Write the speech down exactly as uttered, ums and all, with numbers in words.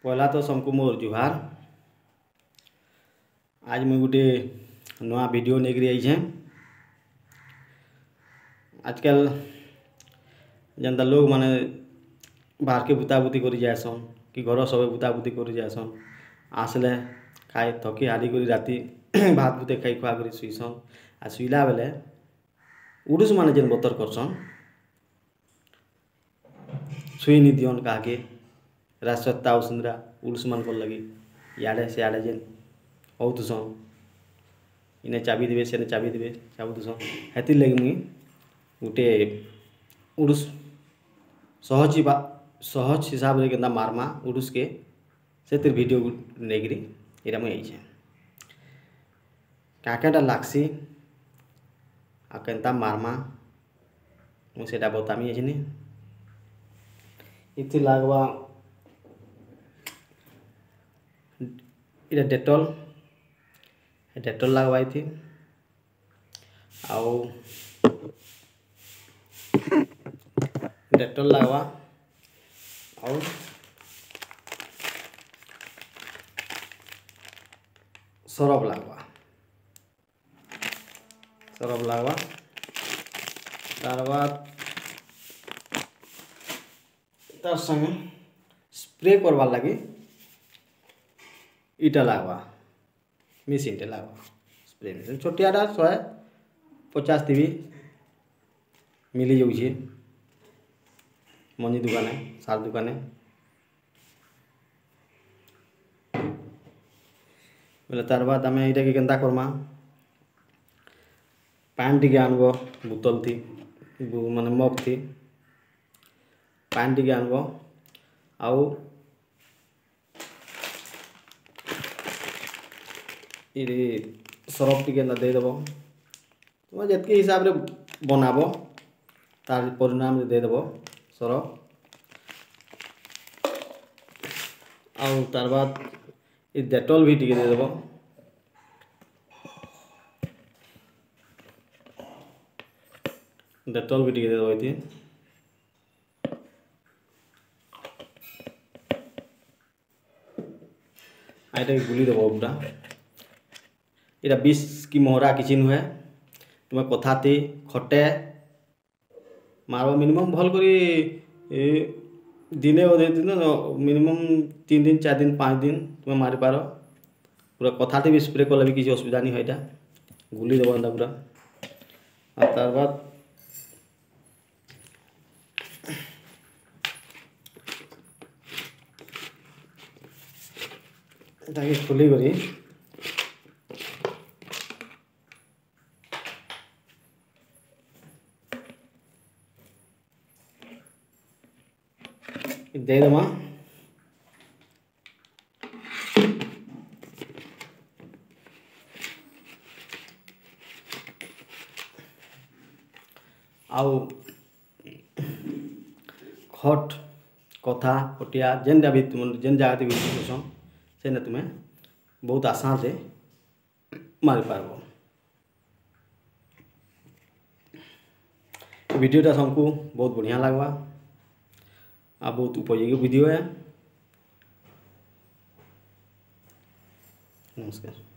ପହେଲା ତ ସମ୍କୁ ମୋର୍ ଜୁହାର୍। ଆଜ୍ ମୁଇଁ ଗୁଟେ ନୂଆ ଭିଡ଼ିଓ ନେଇକରି ଆଇଛେଁ। ଆଜକାଲ୍ ଯେନ୍ତା ଲୋକ୍ମାନେ ବାହାର୍କେ ବୁତାବୁତି କରି ଯାଏସନ୍ କି ଘର ସବେ ବୁତାବୁତି କରି ଯାଏସନ୍, ଆସ୍ଲେ ଖାଇ ଥକି ହାରି କରି ରାତି ଭାତ୍ ବୁତେ ଖାଇ ଖୁଆ କରି ଶୁଇସନ୍। ଆର୍ ଶୁଇଲା ବେଲେ ଉଡ଼ୁସ୍ ମାନେ ଯେନ୍ ବତର୍ କର୍ସନ୍, ଶୁଇ ନି ଦିଅନ୍ କାହାକେ। ରାତ୍ ସତ୍ତା ଅସୁନ୍ଦ୍ରା ଉଡ଼ୁସ୍ ମାନଙ୍କର୍ ଲାଗି ଇଆଡ଼େ ସିଆଡ଼େ ଯେନ୍ ହଉଥିସନ୍, ଇନେ ଚାବି ଦେବେ ସେନେ ଚାବି ଦେବେ ଚାବୁଥିସନ୍। ହେଥିର୍ ଲାଗି ମୁଇଁ ଗୁଟେ ଉଡ଼ୁସ୍ ସହଜ୍ ସହଜ୍ ହିସାବ୍ରେ କେନ୍ତା ମାର୍ମା ଉଡ଼ୁସ୍କେ, ସେଥିର୍ ଭିଡ଼ିଓ ନେଇକିରି ଏଇଟା ମୁଇଁ ଆଇଛେଁ। କାଁ କାଁଟା ଲାଗ୍ସି ଆଉ କେନ୍ତା ମାର୍ମା ମୁଇଁ ସେଟା ବତାମି ଏଛିନି। ଏଥି ଲାଗ୍ବା ଇଟା ଡେଟଲ୍, ଡେଟଲ୍ ଲାଗ୍ବା ଏଥି। ଆଉ ଡେଟଲ୍ ଲାଗ୍ବା ଆଉ ସରଫ୍ ଲାଗ୍ବା, ସରଫ୍ ଲାଗ୍ବା। ତାର୍ ବାଦ୍ ତାର୍ ସାଙ୍ଗେ ସ୍ପ୍ରେ କର୍ବାର୍ ଲାଗି ଇଟା ଲାଗ୍ବା, ମେସିନ୍ଟେ ଲାଗ୍ବା, ସ୍ପ୍ରେ ମେସିନ୍ ଛୋଟିଆଟା ଶହେ ପଚାଶ୍ ଥି ବି ମିଲିଯାଉଛେ ମଞ୍ଜି ଦୁକାନେ, ସାର୍ ଦୁକାନେ। ବେଲେ ତାର୍ ବାଦ୍ ଆମେ ଏଇଟାକେ କେନ୍ତା କର୍ମା, ପାଏନ୍ ଟିକେ ଆନ୍ବ ବୋତଲ୍ ଥି, ମାନେ ମଗ୍ ଥି ପାଏନ୍ ଟିକେ ଆନ୍ବ। ଆଉ ଇରେ ସରଫ୍ ଟିକେ ଏନ୍ତା ଦେଇଦେବ, ତୁମେ ଯେତ୍କି ହିସାବ୍ରେ ବନାବ ତାର୍ ପରିଣାମ୍ରେ ଦେଇଦେବ ସରଫ୍। ଆଉ ତାର୍ ବାଦ୍ ଇ ଡେଟଲ୍ ବି ଟିକେ ଦେଇଦେବ। ଡେଟଲ୍ ବି ଟିକେ ଦେଇଦେବ ଏଥି। ଆଉ ଏଟାକେ ଗୁଲିଦେବ ପୁରା। ଏଇଟା ବିଷ୍ କି ମହରା କିଛି ନୁହେଁ, ତୁମେ କଥାଥି ଖଟେ ମାର୍ବ। ମିନିମମ୍ ଭଲ୍ କରି ଦିନେ ଅଧେ ଦିନ, ମିନିମମ୍ ତିନ୍ ଦିନ୍ ଚାର୍ ଦିନ୍ ପାଞ୍ଚ ଦିନ୍ ତୁମେ ମାରିପାର। ପୁରା କଥାଥି ବି ସ୍ପ୍ରେ କଲେ ବି କିଛି ଅସୁବିଧା ନି ହୁଏ। ଏଇଟା ଗୁଲିଦେବ ଏନ୍ତା ପୁରା। ଆଉ ତାର୍ ବାଦ୍ ଏଟାକେ ଖୋଲିକରି ଦେଇଦେମା। ଆଉ ଖଟ୍ କଥା ପଟିଆ ଯେନ୍ଟା ବି ତୁମେ ଯେନ୍ ଜାଗାତେ ବି କରୁଛନ୍, ସେନେ ତୁମେ ବହୁତ ଆସାନ୍ରେ ମାରିପାର୍ବ। ଭିଡ଼ିଓଟା ସମ୍କୁ ବହୁତ ବଢ଼ିଆ ଲାଗ୍ବା ଆଉ ବହୁତ ଉପଯୋଗୀ ଭିଡ଼ିଓ ଏ। ନମସ୍କାର।